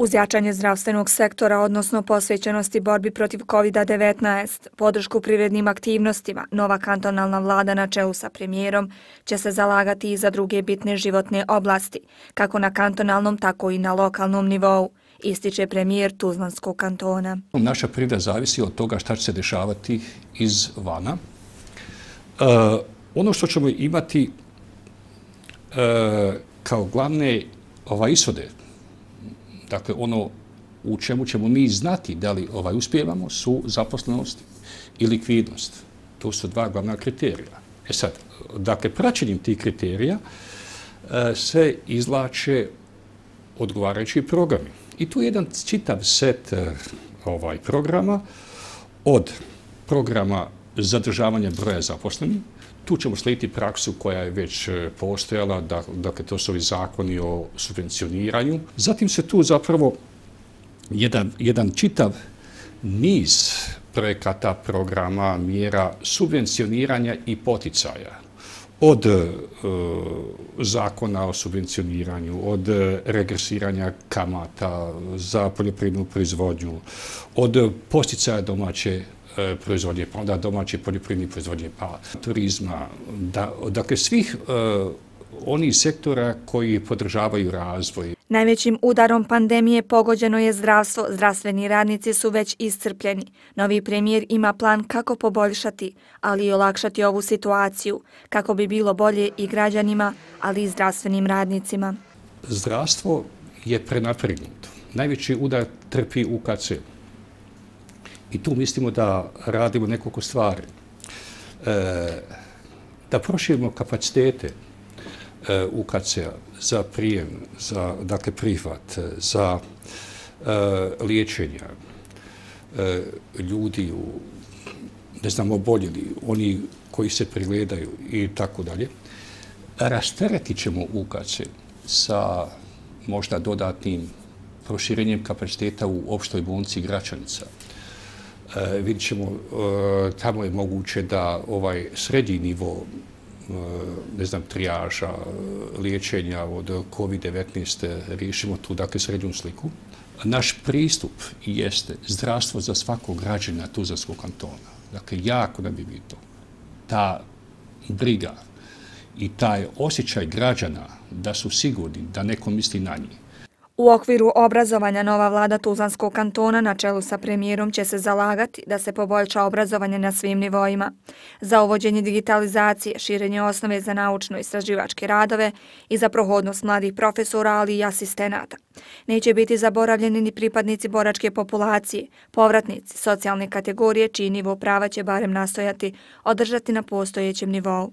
Uz jačanje zdravstvenog sektora, odnosno posvećenosti borbi protiv COVID-19, podršku privrednim aktivnostima, nova kantonalna vlada na čelu sa premijerom će se zalagati i za druge bitne životne oblasti, kako na kantonalnom, tako i na lokalnom nivou, ističe premijer Tuzlanskog kantona. Naša privreda zavisi od toga šta će se dešavati izvana. Ono što ćemo imati kao glavne ishode, dakle, ono u čemu ćemo mi znati da li uspijevamo su zaposlenost i likvidnost. To su dva glavna kriterija. Sad, dakle, praćenjem tih kriterija se izvlače odgovarajući programi. I tu je jedan čitav set programa, od programa zadržavanja broja zaposlenih. Tu ćemo slijediti praksu koja je već postojala, dakle to su ovi zakoni o subvencioniranju. Zatim se tu zapravo jedan čitav niz projekata, programa, mjera subvencioniranja i poticaja. Od zakona o subvencioniranju, od regresiranja kamata za poljoprivrednu proizvodnju, od poticaja domaće proizvodnje, pa onda domaće poljoprivredne proizvodnje, pa turizma, dakle svih onih sektora koji podržavaju razvoj. Najvećim udarom pandemije pogođeno je zdravstvo. Zdravstveni radnici su već iscrpljeni. Novi premijer ima plan kako poboljšati, ali i olakšati ovu situaciju, kako bi bilo bolje i građanima, ali i zdravstvenim radnicima. Zdravstvo je prenapregnuto. Najveći udar trpi UKC. I tu mislimo da radimo nekoliko stvari. Da proširimo kapacitete UKC-a za prijem, za prihvat, za liječenja ljudi, oboljeli, oni koji se pregledaju i tako dalje. Rasteretit ćemo UKC sa možda dodatnim proširenjem kapaciteta u opštoj bolnici Gračanica. Vidjet ćemo, tamo je moguće da srednji nivo trijaža, liječenja od COVID-19 riješimo tu, dakle, srednju sliku. Naš pristup jeste zdravstvo za svakog građana Tuzlanskog kantona. Dakle, jako nam je bitno ta briga i taj osjećaj građana da su sigurni, da neko misli na njih. U okviru obrazovanja nova vlada Tuzlanskog kantona na čelu sa premijerom će se zalagati da se poboljša obrazovanje na svim nivoima. Za uvođenje digitalizacije, širenje osnove za naučno-istraživačke radove i za prohodnost mladih profesora, ali i asistenata. Neće biti zaboravljeni ni pripadnici boračke populacije, povratnici, socijalne kategorije čiji nivo prava će barem nastojati održati na postojećem nivou.